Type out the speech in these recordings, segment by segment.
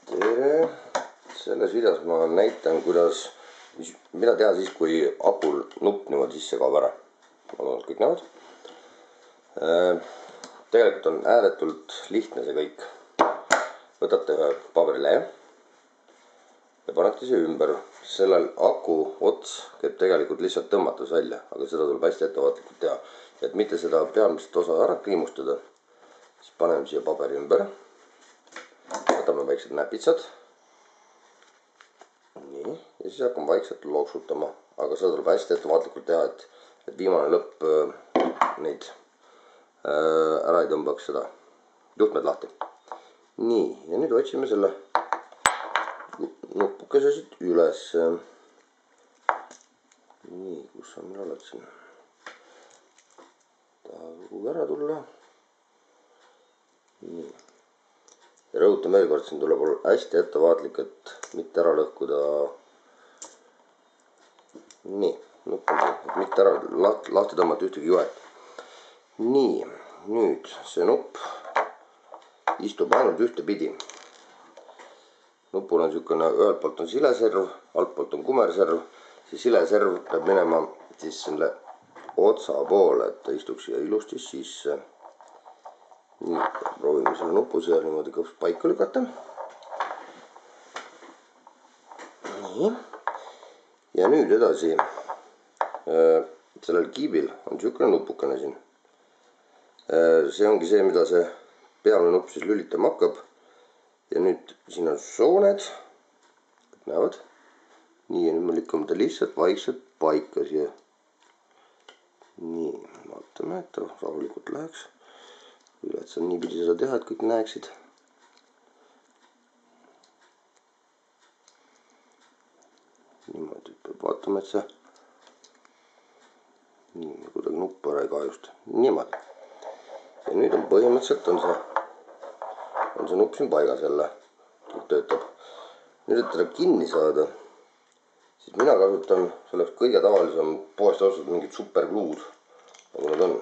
tere! Selles videos ma näitan, mida teha siis, kui akul nupp niimoodi sisse kaob ära. Ma loodan, et kõik näevad. Tegelikult on ääretult lihtne see kõik. Võtate ühe paberilehe ja panete see ümber. Sellel aku ots käib tegelikult lihtsalt tõmmates välja, aga seda tuleb hästi ettevaatlikult teha. Et mitte seda peamist osa ära kriimustada, siis paneme siia paberi ümber. Võtame väiksed näpitsad. Nii, ja siis hakkame vaikselt loksutama, aga seda tuleb hästi ettevaatlikult teha, et viimane lõpp neid ära ei tõmbaks seda juhtmed lahti. Nii, ja nüüd otsime selle nupukese siit üles. Nii, kus sa meil oled siin? Tahab kuhugi ära tulla. Nii. Ja rõhutan veel kord, siin tuleb olla hästi ettevaatlik, et mitte ära lõhkuda. Nii, nupp on see, et mitte ära lahti tõmmata ühtegi juhet. Nii, nüüd see nupp istub ainult ühte pidi. Nupul on niisugune, ühelt poolt on sileserv, alt poolt on kumerserv. See sileserv peab minema siis selle otsa poole, et ta istuks siia ilusti sisse. Nii, proovime selle nupu seal niimoodi paika lükata. Nii. Ja nüüd edasi, sellel kiibil on niisugune nupukene siin. See ongi see, mida see peamine nupp siis lülitama hakkab. Ja nüüd siin on sooned, näevad. Nii, ja nüüd me lükkame ta lihtsalt vaikselt paika siia. Nii, vaatame, et ta rahulikult läheks. Et sa niipidi seda teha, et kõik näeksid. Niimoodi peab vaatama, et see nii, kuidagi nuppu ära ei kahjusta. Niimoodi. Ja nüüd on põhimõtteliselt on see nupp siin paigas jälle. Töötab. Nüüd, et teda kinni saada, siis mina kasutan selleks kõige tavalisem poest ostatud mingid supergluud, nagu nad on.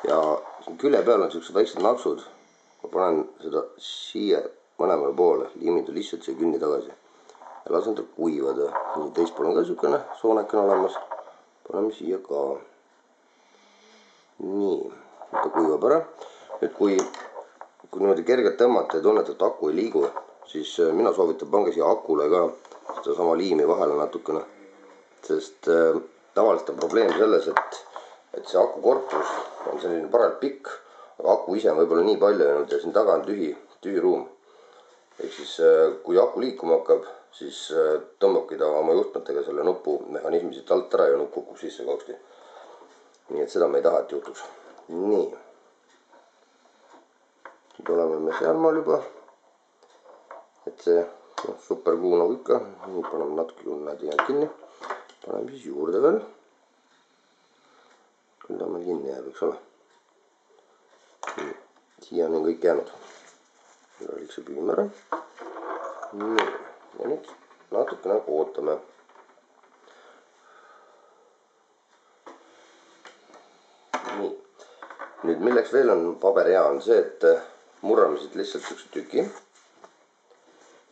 Ja külje peal on sellised väiksed naksud. Ma panen seda siia mõlemale poole, liimin ta lihtsalt siia künni tagasi ja lasen ta kuivada. Nii, teist pool on ka niisugune soonekene olemas. Paneme siia ka. Nii, ta kuivab ära. Nüüd, kui niimoodi kergelt tõmmata ja tunnete, et aku ei liigu, siis mina soovitan pange siia akule ka seda sama liimi vahele natukene. Sest tavaliselt on probleem selles, et see aku korpus on selline paralt pikk, aga aku ise on võib-olla nii palju jäänud ja siin taga on tühi ruum. Ehk siis, kui aku liikuma hakkab, siis tõmbabki ta oma juhtmetega selle nupu mehhanismi siit alt ära ja nupp kukub sisse kauksti. Nii et seda me ei taha, et juhtuks. Nii. Nüüd oleme me sealmaal juba. Et see supergluu nagu ikka. Nii, paneme natuke näed jäänud kinni. Paneme siis juurde veel. Küll ta meil kinni jääb, eks ole. Siia on kõik jäänud. Ülelik see püüm ära. Nii. Ja nüüd natukene ootame. Nii. Nüüd milleks veel on paber hea on see, et murrame siit lihtsalt üks tüki.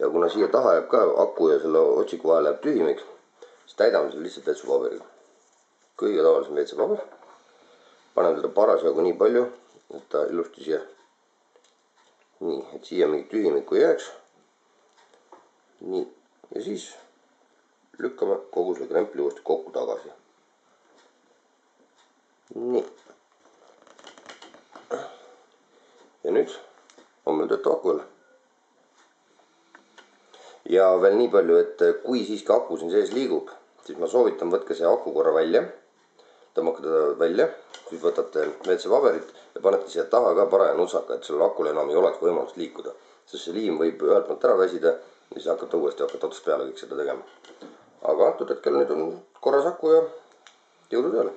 Ja kuna siia taha jääb ka aku ja selle otsiku vahel jääb tühimik, siis täidame selle lihtsalt vetsupaberiga. Kõige tavalisem vetsupaber. Panen teda parasjagu nii palju, et ta ilusti siia. Nii, et siia mingit tühimikku ei jääks. Nii, ja siis lükkame kogu selle krempli uuesti kokku tagasi. Nii. Ja nüüd on meil töötav aku jälle. Ja veel nii palju, et kui siiski aku siin sees liigub, siis ma soovitan, võtke see aku korra välja. Tõmmake teda välja, siis võtate WC-paberit ja panete siia taha ka paraja nutsaka, et sellel akul enam ei oleks võimalust liikuda. Sest see liim võib ühelt poolt ära väsida ja siis hakkate uuesti otsast peale kõik seda tegema. Aga antud hetkel nüüd on korras aku ja jõudu tööle!